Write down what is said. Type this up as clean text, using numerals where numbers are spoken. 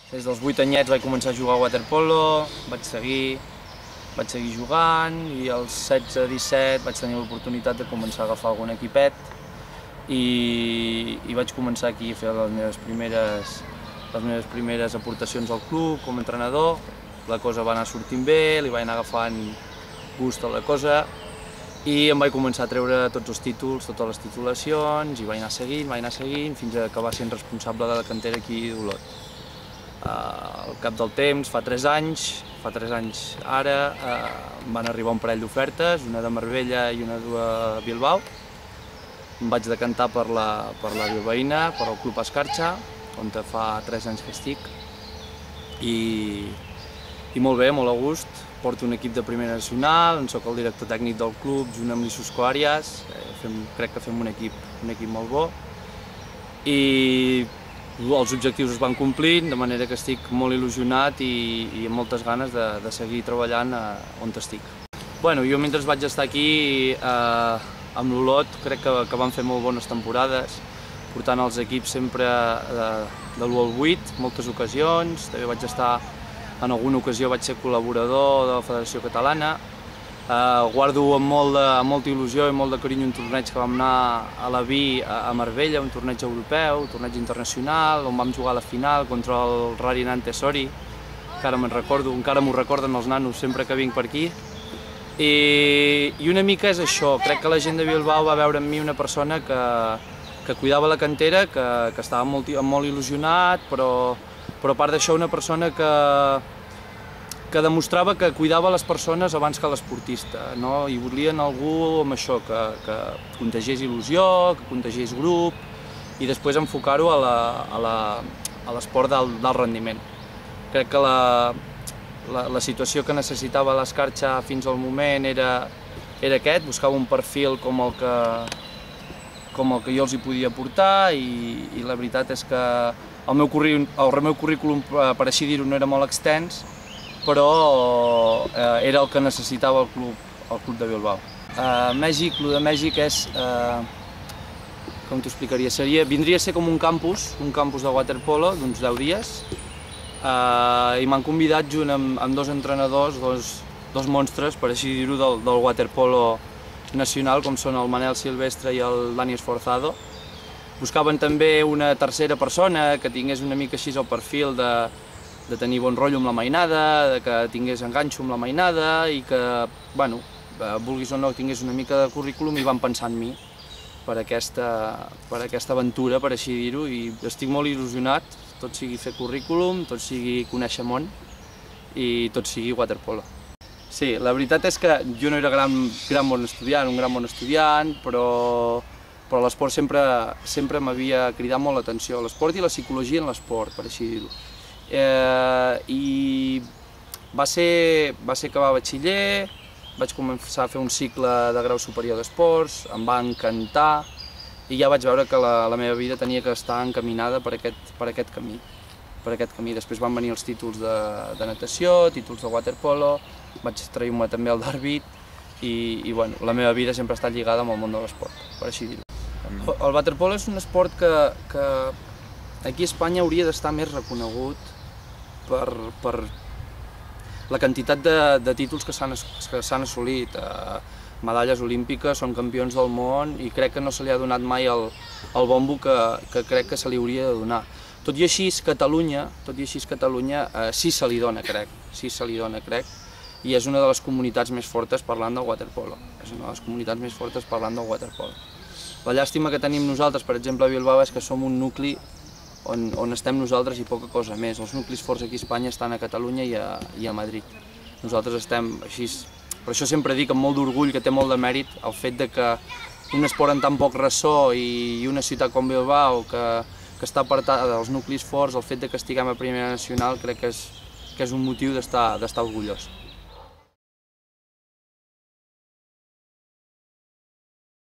Des dels 8 anyets vaig començar a jugar a waterpolo, vaig seguir jugant i als 16-17 vaig tenir l'oportunitat de començar a agafar algun equipet i vaig començar aquí a fer les meves primeres aportacions al club com a entrenador. La cosa va anar sortint bé, li vaig anar agafant gust a la cosa i em vaig començar a treure tots els títols, totes les titulacions, i vaig anar seguint, fins a acabar sent responsable de la cantera aquí d'Olot. Al cap del temps, fa 3 anys ara, van arribar un parell d'ofertes, una de Marbella i una de Bilbao. Em vaig decantar per la bilbaïna, per al Club Escarcha, on fa 3 anys que estic. I molt bé, molt a gust. Porto un equip de primera nacional, soc el director tècnic del club, junt amb l'Isusco Àries. Crec que fem un equip molt bo. I els objectius es van complint, de manera que estic molt il·lusionat i amb moltes ganes de seguir treballant on estic. Jo mentre vaig estar aquí amb l'Olot crec que vam fer molt bones temporades, portant els equips sempre de l'1 al 8, moltes ocasions. També vaig estar, en alguna ocasió vaig ser col·laborador de la Federació Catalana. Guardo amb molta il·lusió i molt de carinyo un torneig que vam anar a la Vi a Marbella, un torneig europeu, un torneig internacional, on vam jugar a la final contra el Rari Nantes Sori. Encara m'ho recorden els nanos sempre que vinc per aquí. I una mica és això, crec que la gent de Bilbao va veure en mi una persona que cuidava la cantera, que estava molt il·lusionat, però a part d'això una persona que demostrava que cuidava les persones abans que l'esportista, i volien algú amb això, que contagiés il·lusió, que contagiés grup i després enfocar-ho a l'esport d'alt rendiment. Crec que la situació que necessitava l'Escarcha fins al moment era aquest, buscava un perfil com el que jo els hi podia aportar i la veritat és que el meu currículum, per així dir-ho, no era molt extens, però era el que necessitava el club de Bilbao. Mèxic, el de Mèxic és, com t'ho explicaria, vindria a ser com un campus de waterpolo d'uns 10 dies, i m'han convidat junt amb 2 entrenadors, dos monstres, per així dir-ho, del waterpolo nacional, com són el Manel Silvestre i el Dani Esforzado. Buscaven també una tercera persona que tingués una mica així el perfil de tenir bon rotllo amb la mainada, que tingués enganxo amb la mainada i que, vulguis o no, tingués una mica de currículum, i van pensar en mi per aquesta aventura, per així dir-ho, i estic molt il·lusionat, tot sigui fer currículum, tot sigui conèixer món i tot sigui waterpolo. Sí, la veritat és que jo no era un gran bon estudiant, però l'esport sempre m'havia cridat molt l'atenció, l'esport i la psicologia en l'esport, per així dir-ho. I va ser acabar batxiller, vaig començar a fer un cicle de grau superior d'esports, em va encantar i ja vaig veure que la meva vida tenia que estar encaminada per aquest camí. Després van venir els títols de natació, títols de waterpolo, vaig traure-me també el d'àrbit i la meva vida sempre ha estat lligada amb el món de l'esport, per així dir-ho. El waterpolo és un esport que aquí a Espanya hauria d'estar més reconegut per la quantitat de títols que s'han assolit. Medalles olímpiques, són campions del món i crec que no se li ha donat mai el bombo que crec que se li hauria de donar. Tot i així, Catalunya sí se li dona, crec, i és una de les comunitats més fortes parlant del waterpolo. La llàstima que tenim nosaltres, per exemple, a Bilbao, és que som un nucli on estem nosaltres i poca cosa més. Els nuclis forts aquí a Espanya estan a Catalunya i a Madrid. Nosaltres estem així. Per això sempre dic amb molt d'orgull que té molt de mèrit el fet que un esport amb tan poc ressò i una ciutat com Bilbao, que està apartada dels nuclis forts, el fet que estiguem a primera nacional crec que és un motiu d'estar orgullós.